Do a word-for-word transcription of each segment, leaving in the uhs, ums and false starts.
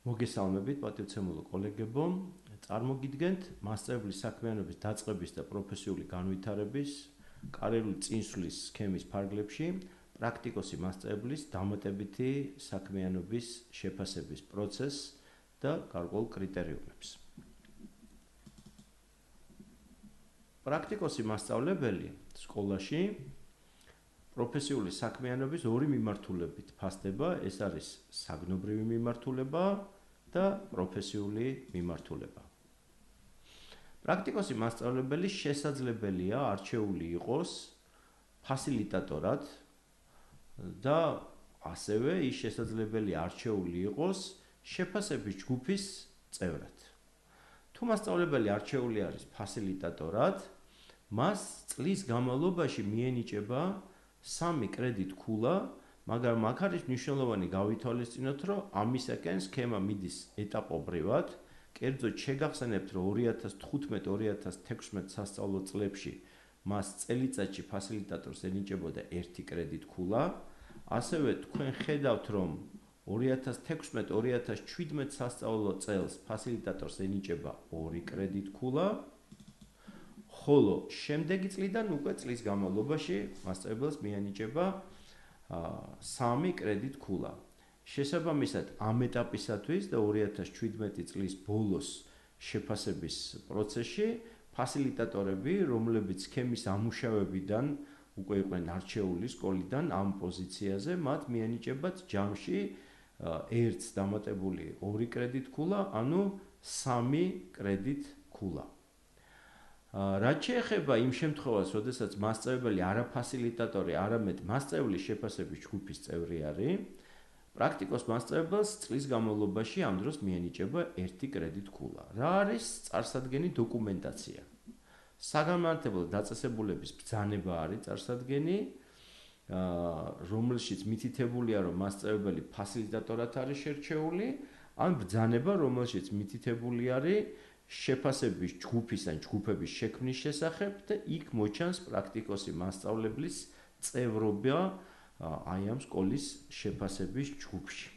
მოგესალმებით, პატივცემულო კოლეგებო. წარმოგიდგენთ მასწავლებლის საქმიანობის დაწყების და პროფესიული განვითარების კარიერული წინსვლის სქემის ფარგლებში პრაქტიკოსი მასწავლებლის დამატებითი საქმიანობის შეფასების პროცესს და გარკვეულ კრიტერიუმებს. პრაქტიკოსი მასწავლებელი სკოლაში პროფესიული საქმიანობის ორი მიმართულებით ფასდება, ეს არის საგნობრივი მიმართულება და პროფესიული მიმართულება. პრაქტიკოსი მასწავლებელი შესაძლებელია არჩეული იყოს ფასილიტატორად და ასევე ის შესაძლებელია არჩეული იყოს შეფასების ჯგუფის წევრად. თუ მასწავლებელი არჩეული არის ფასილიტატორად, მას წლის განმავლობაში მიენიჭება სამი კრედიტ ქულა, მაგრამ აქ არის მნიშვნელოვანი გავითვალისწინოთ, რომ ამისაკენ სქემა მიდის ეტაპობრივად. კერძოდ შეგახსენებთ, რომ ორი ათას თხუთმეტ ორი ათას თექვსმეტ სასწავლო წლებში მას წელიწადში ფასილიტატორს ენიჭებოდა ერთი კრედიტ ქულა. ასევე თქვენ ხედავთ, რომ ორი ათას თექვსმეტ ორი ათას შვიდმეტ სასწავლო წელს ფასილიტატორს ენიჭება ორი კრედიტ ქულა. ხოლო შემდეგი წლიდან უკვე წლის განმავლობაში მასწავლებელს მიენიჭება სამი კრედიტ ქულა. შესაბამისად, ამ ეტაპისათვის და ორი ათას შვიდმეტი წლის ბოლოს შეფასების პროცესში ფასილიტატორები, რომლებიც სქემის ამუშავებიდან უკვე იყვნენ არჩეული სკოლიდან ამ პოზიციაზე, მათ მიენიჭებათ ჯამში ერთს დამატებული ორი კრედიტ ქულა, ანუ სამი კრედიტ ქულა. რაც შეეხება იმ შემთხვევას, როდესაც მასწავლებელი არა ფასილიტატორი, არამედ მასწავლებლის შეფასების ჯგუფის წევრი არის, პრაქტიკოს მასწავლებელს წლის განმავლობაში ამ დროს მიენიჭება ერთი კრედიტ ქულა. რა არის წარსადგენი დოკუმენტაცია? საგანმანათლებლო დაწესებულების ბრძანება არის წარსადგენი, რომელშიც მითითებულია, რომ მასწავლებელი ფასილიტატორად არის შერჩეული, ან ბრძანება, რომელშიც მითითებული არის შეფასების ჯგუფის ან ჯგუფების შექმნის შესახებ და იქ მოჩანს პრაქტიკოსი მასწავლებლის წევრობა აი ამ სკოლის შეფასების ჯგუფში.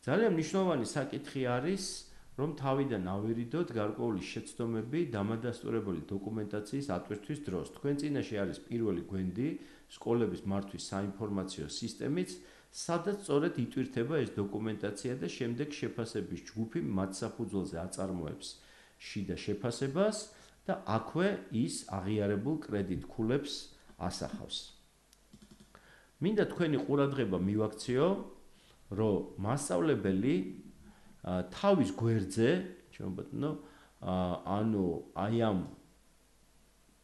ძალიან მნიშვნელოვანი საკითხი არის, რომ თავიდან ავირიდოთ გარკვეული შეცდომები დამადასტურებელი დოკუმენტაციის ატვირთვის დროს. თქვენ წინაშე არის პირველი გვენდი სკოლების მართვის საინფორმაციო სისტემით, სადაც სწორედ იტვირთება ეს დოკუმენტაცია და შემდეგ შეფასების ჯგუფი მათ საფუძველზე აწარმოებს შიდა შეფასებას და აქვე ის აღიარებულ კრედიტ ქულებს ასახავს. მინდა თქვენი ყურადღება მივაქციო, რომ მასწავლებელი თავის გვერდზე, ჩემო ბატონო, ანუ აი ამ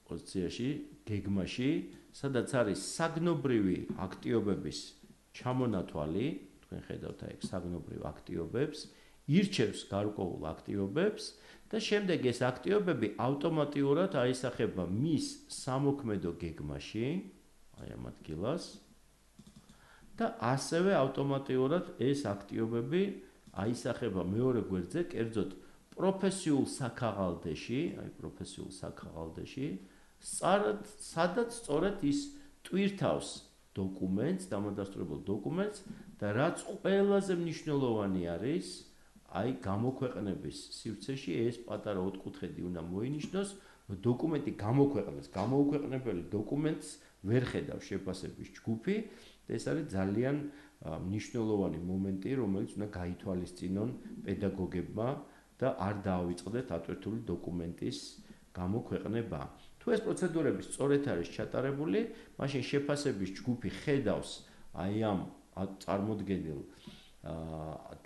პოზიციაში, გეგმაში, სადაც არის საგნობრივი აქტივობების ჩამონათვალი, თქვენ ხედავთ აი საგნობრივ აქტივობებს, ირჩევს გარკვეულ აქტივობებს და შემდეგ ეს აქტივობები ავტომატურად აისახება მის სამოქმედო გეგმაში, აი ამ ადგილას და ასევე ავტომატურად ეს აქტივობები აისახება მეორე გვერდზე, კერძოდ პროფესიულ საქაღალდეში, აი პროფესიულ საქაღალდეში, სადაც სწორედ ის ტვირთავს დოკუმენტს, დამადასტურებელ დოკუმენტს და რაც ყველაზე მნიშვნელოვანი არის, აი გამოქვეყნების სივრცეში ეს პატარა ოთხკუთხედი უნდა მოინიშნოს, რომ დოკუმენტი გამოქვეყნეს, გამოუქვეყნებელი დოკუმენტს ვერ ხედავს შეფასების ჯგუფი და ეს არის ძალიან მნიშვნელოვანი მომენტი, რომელიც უნდა გაითვალისწინონ პედაგოგებმა და არ დაავიწყდეთ ატვირთული დოკუმენტის გამოქვეყნება. თუ ეს პროცედურები სწორედ არის ჩატარებული, მაშინ შეფასების ჯგუფი ხედავს აი ამ წარმოდგენილ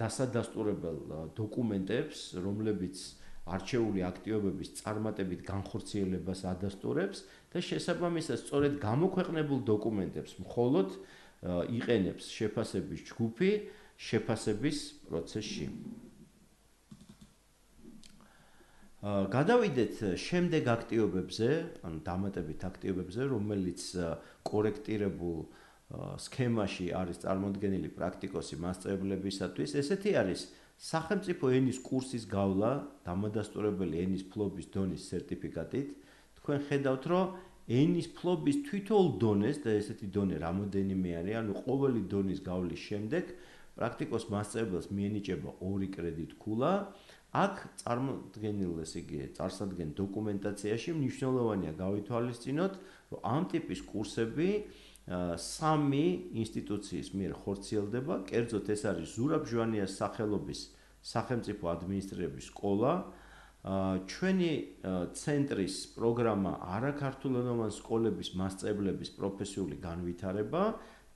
დასადასტურებელ დოკუმენტებს, რომლებიც არჩეული აქტივობების წარმატებით განხორციელებას ადასტურებს და შესაბამისად სწორედ გამოქვეყნებულ დოკუმენტებს მხოლოდ იყენებს შეფასების ჯგუფი შეფასების პროცესში. გადავიდეთ შემდეგ აქტივობებზე, ანუ დამატებით აქტივობებზე, რომელიც კორექტირებულ სქემაში არის წარმოდგენილი პრაქტიკოსი მასწავლებლებისათვის. ესეთი არის სახელმწიფო ენის კურსის გავლა დამადასტურებელი ენის ფლობის დონის სერტიფიკატით. თქვენ ხედავთ, რომ ენის ფლობის თითოეულ დონეს და ესეთი დონე რამოდენიმე არის, ანუ ყოველი დონის გავლის შემდეგ პრაქტიკოს მასწავლებელს მიენიჭება ორი კრედიტ ქულა. აქ წარმოდგენილ, ესე იგი, წარსადგენ დოკუმენტაციაში მნიშვნელოვანია გავითვალისწინოთ, რომ ამ ტიპის კურსები სამი ინსტიტუციის მიერ ხორციელდება, კერძოდ ეს არის ზურაბ ჟვანიას სახელობის სახელმწიფო ადმინისტრირების სკოლა, ჩვენი ცენტრის პროგრამა არაქართულენოვანი სკოლების მასწავლებლების პროფესიული განვითარება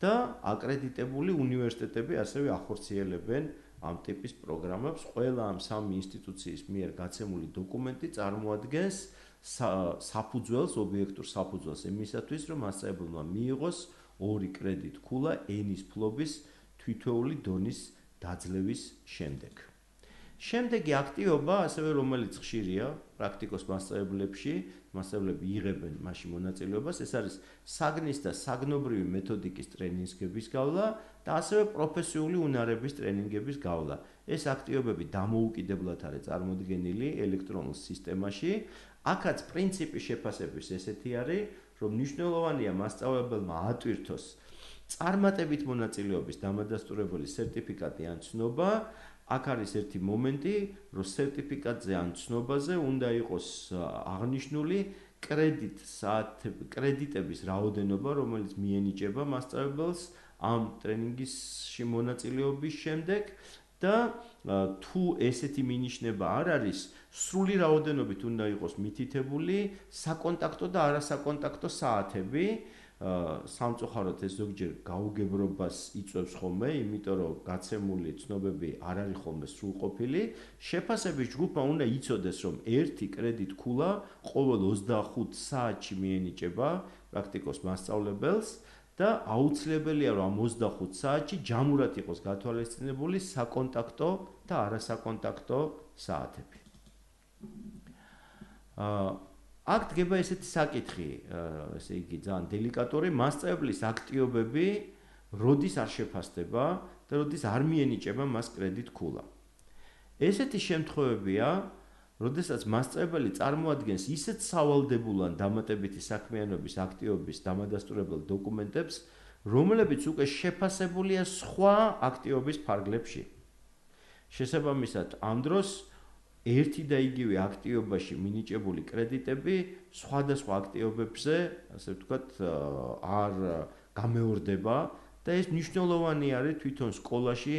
და აკრედიტებული უნივერსიტეტები ასევე ახორციელებენ ამ ტიპის პროგრამებს. ყველა ამ სამი ინსტიტუციის მიერ გაცემული დოკუმენტი წარმოადგენს საფუძველს, ობიექტურ საფუძველს იმისათვის, რომ მასწავლებელმა მიიღოს ორი კრედიტ ქულა ენის ფლობის თითოეული დონის დაძლევის შემდეგ. შემდეგი აქტივობა, ასევე რომელიც ხშირია პრაქტიკოს მასწავლებლებში, მასწავლებლები იღებენ მასში მონაწილეობას, ეს არის საგნის და საგნობრივი მეთოდიკის ტრენინგების გავლა და ასევე პროფესიული უნარების ტრენინგების გავლა. ეს აქტივობები დამოუკიდებლად არის წარმოდგენილი ელექტრონულ სისტემაში. აქაც პრინციპი შეფასების ესეთი არის, რომ მნიშვნელოვანია მასწავლებელმა ატვირთოს წარმატებით მონაწილეობის დამადასტურებელი სერტიფიკატი ან ცნობა. აქ არის ერთი მომენტი, რომ სერტიფიკატზე ან ცნობაზე უნდა იყოს აღნიშნული კრედიტ კრედიტების რაოდენობა, რომელიც მიენიჭება მასწავლებელს ამ ტრენინგში მონაწილეობის შემდეგ და თუ ესეთი მინიშნება არ არის, სრული რაოდენობით უნდა იყოს მითითებული საკონტაქტო და არასაკონტაქტო საათები. სამწუხაროდ ეს ზოგჯერ გაუგებრობას იწვევს ხოლმე, იმიტომ რომ გაცემული ცნობები არ არის ხოლმე სრულყოფილი. შეფასების ჯგუფმა უნდა იცოდეს, რომ ერთი კრედიტ ქულა ყოველ ოცდახუთ საათში მიენიჭება პრაქტიკოს მასწავლებელს და აუცილებელია, რომ ამ ოცდახუთ საათში ჯამურად იყოს გათვალისწინებული საკონტაქტო და არასაკონტაქტო საათები. აქ დგება ესეთი საკითხი, ესე იგი, ძალიან დელიკატური, მასწავლებლის აქტივობები როდის არ შეფასდება და როდის არ მიენიჭება მას კრედიტ ქულა. ესეთი შემთხვევებია, როდესაც მასწავლებელი წარმოადგენს ისეთ სავალდებულო ან დამატებითი საქმიანობის აქტივობის დამადასტურებელ დოკუმენტებს, რომლებიც უკვე შეფასებულია სხვა აქტივობის ფარგლებში. შესაბამისად, ამ დროს ერთი და იგივე აქტივობაში მინიჭებული კრედიტები სხვადასხვა აქტივობებზე, ასე ვთქვათ, არ გამეორდება და ეს მნიშვნელოვანი არის თვითონ სკოლაში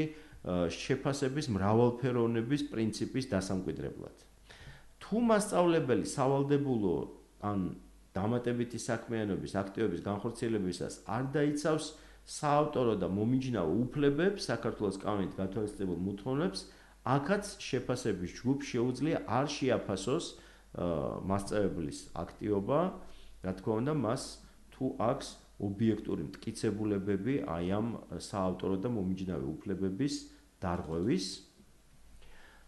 შეფასების მრავალფეროვნების პრინციპის დასამკვიდრებლად. თუ მასწავლებელი სავალდებულო ან დამატებითი საქმიანობის აქტივობის განხორციელებისას არ დაიცავს საავტორო და მომიჯნავო უფლებებს საქართველოს კანონით გათვალისწინებულ მოთხოვნებს, აქაც შეფასების ჯგუფს შეუძლია არ შეაფასოს მასწავლებლის აქტივობა, რა თქმა უნდა, მას თუ აქვს ობიექტური მტკიცებულებები აი ამ საავტორო და მომიჯნავე უფლებების დარღვევის.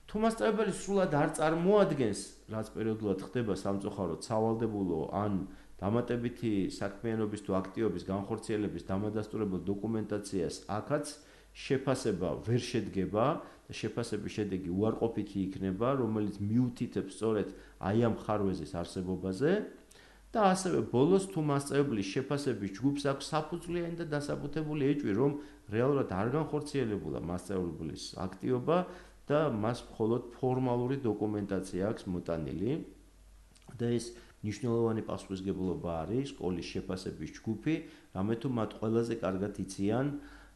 თუ მასწავლებელი სრულად არ წარმოადგენს, რაც პერიოდულად ხდება სამწუხაროდ სავალდებულო ან დამატებითი საქმიანობის თუ აქტივობის განხორციელების დამადასტურებელ დოკუმენტაციას, აქაც შეფასება ვერ შედგება და შეფასების შედეგი უარყოფითი იქნება, რომელიც მიუთითებს სწორედ აი ამ ხარვეზის არსებობაზე და ასევე ბოლოს თუ მასწავლებლის შეფასების ჯგუფს აქვს საფუძვლიანი და დასაბუთებული ეჭვი, რომ რეალურად არ განხორციელებულა მასწავლებლის აქტივობა და მას მხოლოდ ფორმალური დოკუმენტაცია აქვს მოტანილი და ეს მნიშვნელოვანი პასუხისმგებლობა არის სკოლის შეფასების ჯგუფი, რამე თუ მათ ყველაზე კარგად იციან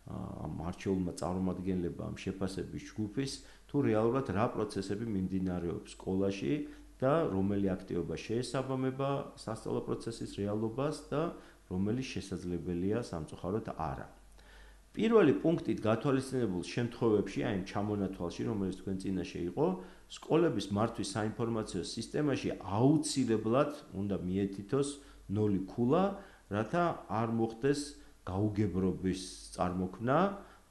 ამ არჩეულმა წარმომადგენლებამ შეფასების ჯგუფის თუ რეალურად რა პროცესები მიმდინარეობს სკოლაში და რომელი აქტივობა შეესაბამება სასწავლო პროცესის რეალობას და რომელი შესაძლებელია სამწუხაროდ არა. პირველი პუნქტით გათვალისწინებულ შემთხვევებში, აი ამ ჩამონათვალში, რომელიც თქვენ წინაშე იყო, სკოლების მართვის საინფორმაციო სისტემაში აუცილებლად უნდა მიეთითოს ნული ქულა, რათა არ მოხდეს გაუგებრობის წარმოქმნა,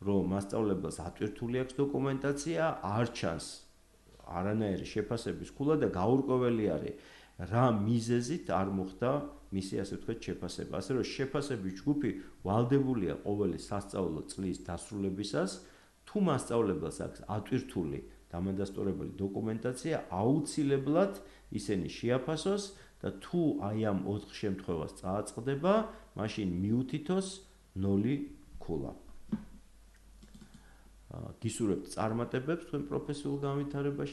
რომ მასწავლებელს ატვირთული აქვს დოკუმენტაცია, არ ჩანს არანაირი შეფასების ქულა და გაურკვეველი არის რა მიზეზით არ მოხდა მისი, ასე ვთქვათ, შეფასება. ასე რომ შეფასების ჯგუფი ვალდებულია ყოველი სასწავლო წლის დასრულებისას, თუ მასწავლებელს აქვს ატვირთული დამადასტურებელი დოკუმენტაცია, აუცილებლად ისინი შეაფასოს და თუ აი ამ ოთხ შემთხვევას წააწყდება, მაშინ მიუთითოს ნული ქულა. გისურვებთ წარმატებებს თქვენ პროფესიულ განვითარებაში.